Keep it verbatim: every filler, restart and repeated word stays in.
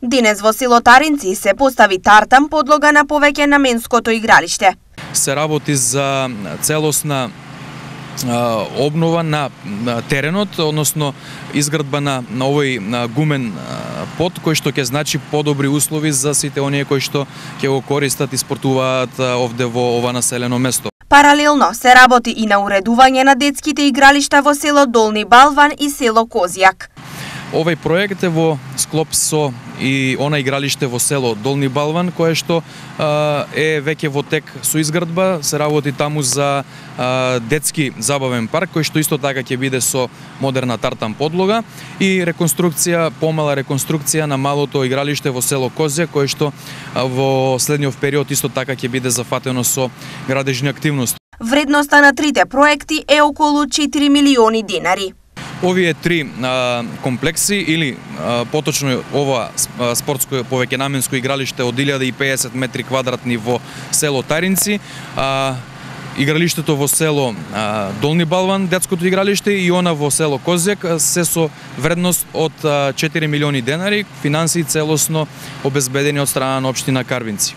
Денес во село Таринци се постави тартан подлога на повеќе наменското игралиште. Се работи за целосна обнова на теренот, односно изградба на, на овој на гумен пот, кој што ќе значи подобри услови за сите оние кои што ќе го користат и спортуваат овде во ова населено место. Паралелно се работи и на уредување на детските игралишта во село Долни Балван и село Козјак. Овој проект е во склоп со и она игралиште во село Долни Балван, кое што а, е веќе во тек со изградба. Се работи таму за а, детски забавен парк, кој што исто така ќе биде со модерна тартан подлога и реконструкција, помала реконструкција на малото игралиште во село Козјак, кое што а, во следниот период исто така ќе биде зафатено со градежни активности. Вредноста на трите проекти е околу четири милиони денари. Овие три а, комплекси или а, поточно ова спортско повеќенаменско игралиште од илјада и педесет метри квадратни во село Таринци, а, игралиштето во село а, Долни Балван, детското игралиште, и она во село Козјак се со вредност од четири милиони денари, финансии целосно обезбедени од страна на општина Карвинци.